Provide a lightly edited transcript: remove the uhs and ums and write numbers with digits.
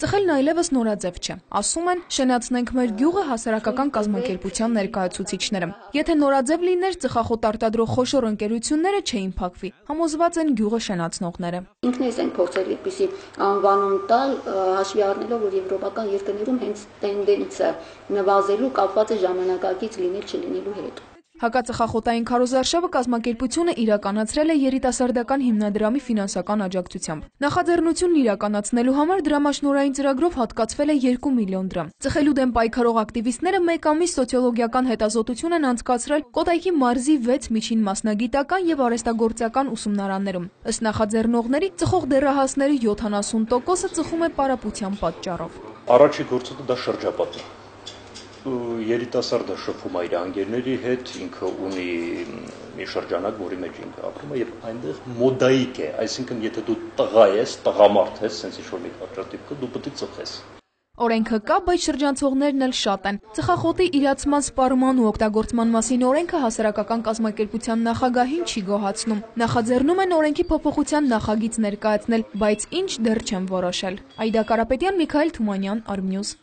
Ծխելն այլևս նորաձև չէ, ասում են շենացնենք մեր գյուղը հասարակական կազմակերպության ներկայացուցիչները։ Եթե նորաձև լիներ, ծխախոտ արտադրող խոշոր ընկերությունները չէին փակվի, համոզված են գյուղը շենացնողները։ Ինքներս ենք փորձել այդպիսի անվանում տալ, հաշվի առնելով, որ եվրոպական երկրներում հենց տենդենսը նվազելու կապված է ժամանակակից լինել չլինելու հետ։ Հակածխախոտային քարոզարշավը կազմակերպությունը իրականացրել է երիտասարդական հիմնադրամի ֆինանսական աջակցությամբ։ Նախաձեռնությունն իրականացնելու համար դրամաշնորհային ծրագրով հատկացվել է 2 միլիոն դրամ։ Ծխելու դեմ պայքարող ակտիվիստները մեկ ամիս սոցիոլոգիական հետազոտություն են անցկացրել Կոտայքի մարզի 6 միջին մասնագիտական եւ արհեստագործական ուսումնարաններում։ Ըստ նախաձեռնողների, ծխող դեռահասների 70%-ը ծխում է պարապության պատճառով։ Առաջի գործը դա շրջապատն է։ Երիտասարդը շփվում է իր անգերների հետ, ինքը ունի մի շրջանակ, որի մեջ ինքը ապրում է եւ այնտեղ մոդայիկ է, այսինքն եթե դու տղա ես, տղամարդ ես, sense ինչ-որ մի պատճառով դու պետք է ծխես։ Օրենքը կա, բայց շրջանցողներն էլ շատ են։ Ծխախոտի իրացման սպառման ու օգտագործման մասին օրենքը հասարակական կազմակերպության նախագահին չի գոհացնում։ Նախաձեռնում են օրենքի փոփոխության նախագիծ ներկայացնել, բայց ինչ դեռ չեն որոշել։ Այդա Կարապետյան, Միքայել Թումանյան, Արմնյուզ։